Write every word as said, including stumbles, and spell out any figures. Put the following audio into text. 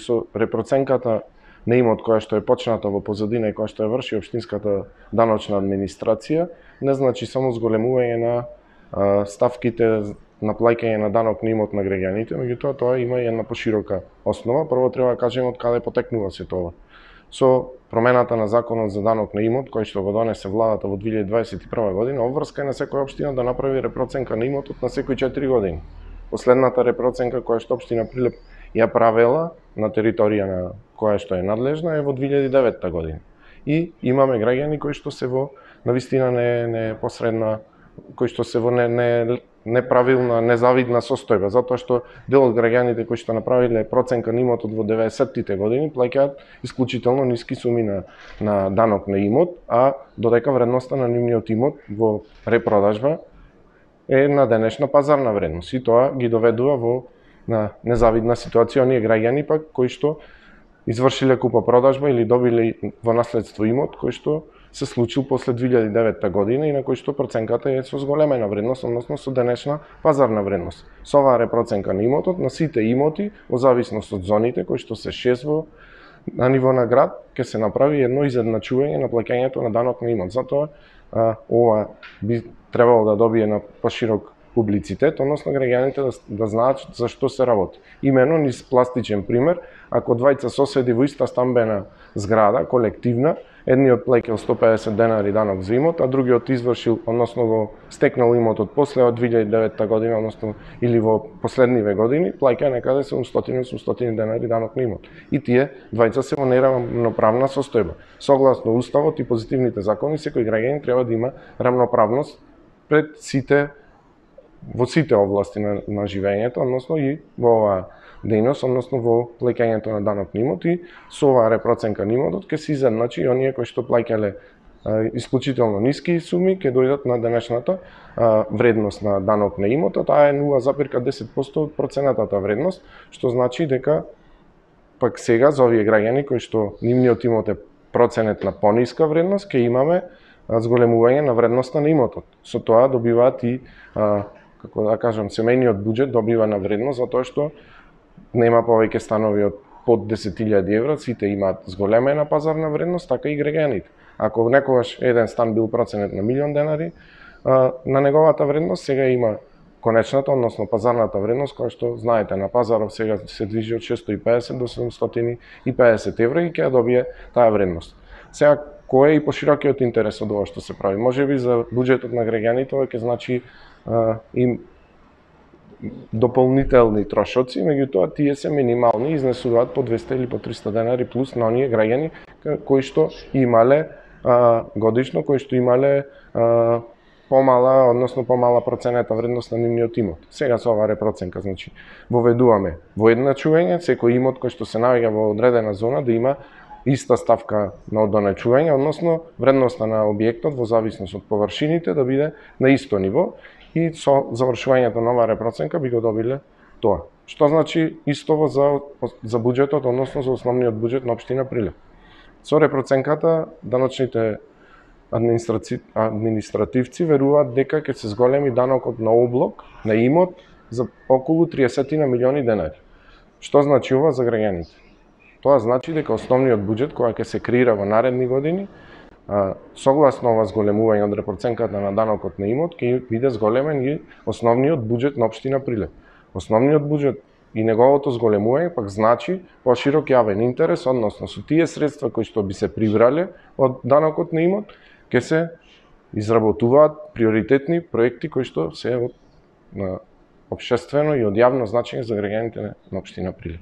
Со репроценката на имот која што е почната во позадина и која што ја врши општинската даночна администрација, не значи само зголемување на а, ставките на плаќање на данок на имот на граѓаните, меѓутоа тоа има и една поширока основа. Прво треба да кажеме од каде потекнува се тоа. Со промената на законот за данок на имот, кој што го донесе владата во две илјади дваесет и прва година, обврска е на секоја општина да направи репроценка на имотот на секои четири години. Последната репроценка која што општина Прилеп ја правела на територија на која што е надлежна е во две илјади и девета година. И имаме граѓани кои што се во навистина не не посредна, кои што се во не не неправилна, незавидна состојба, затоа што дел од граѓаните кои што направиле проценка на имотот во деветдесеттите години плаќаат исклучително ниски суми на на данок на имот, а додека вредноста на нивниот имот во репродажба е на денешна пазарна вредност и тоа ги доведува во на незавидна ситуација оние граѓани пак кои што извршиле купо-продажба или добиле во наследство имот кој што се случил после две илјади и девета година и на кој што проценката е со зголемена вредност, односно со денешна пазарна вредност. Со оваа репроценка на имотот на сите имоти, во зависност од зоните кои што се шест во на ниво на град, ќе се направи едно изедначување на плаќањето на данок на имот. Затоа а, ова би требало да добие на поширок публицитет, односно граѓаните да, да знаат за што се работи. Имено низ пластичен пример, ако двајца соседи во иста стамбена зграда, колективна, едниот плаќал сто и педесет денари данок за имот, а другиот извршил, односно го стекнал имотот после од две илјади и девета година, односно или во последниве години, плаќа некаде седумстотини до осумстотини денари данок на имот. И тие двајца се во неравноправна состојба. Согласно уставот и позитивните закони, секој граѓанин треба да има рамноправност пред сите во сите области на, на живењето, односно и во оваа дејност, односно во плаќањето на данок на имот и со оваа репроценка на имотот ќе се изедначи и оние кои што плаќале исклучително ниски суми ќе дојдат на денешната а, вредност на данок на имотот, а е нула запирка десет проценти од проценатата вредност, што значи дека пак сега за овие граѓани кои што нивниот имот е проценет на пониска вредност, ќе имаме зголемување на вредноста на имотот. Со тоа добиваат и а, како да кажам, семејниот буџет добива на вредност затоа што нема повеќе станови од под десет илјади евра, сите имаат зголемена пазарна вредност, така и граѓаните. Ако некогаш еден стан бил проценет на милион денари, на неговата вредност сега има конечната, односно пазарната вредност, која што знаете на пазаров сега се движи од шестоста и педесет до седумстотини и педесет евра и ќе добие таа вредност. Сега кој е и поширокиот интерес од ова што се прави? Можеби за буџетот на граѓаните ова ќе значи а, им дополнителни трошоци, меѓутоа тие се минимални и изнесуваат по двесте или по триста денари плюс на оние граѓани кои што имале а, годишно, кои што имале а, помала, односно помала проценета вредност на нивниот имот. Сега со оваа репроценка, значи, воведуваме воедначување, секој имот кој што се наоѓа во одредена зона да има иста ставка на одоначување, односно вредноста на објектот во зависност од површините да биде на исто ниво и со завршувањето на оваа репроценка би го добиле тоа. Што значи истово за за буџетот, односно за основниот буџет на општина Прилеп. Со репроценката даночните администраци... административци веруваат дека ќе се зголеми данокот на облог на имот за околу триесет милиони денари. Што значи ова за граѓаните? Тоа значи дека основниот буџет кој ќе се креира во наредни години, а, согласно ова зголемување од репроценката на данокот на имот, ќе биде зголемен и основниот буџет на општина Прилеп. Основниот буџет и неговото зголемување пак значи поширок јавен интерес, односно со тие средства кои што би се прибрале од данокот на имот, ќе се изработуваат приоритетни проекти кои што се од на општествено и од јавно значење за граѓаните на општина Прилеп.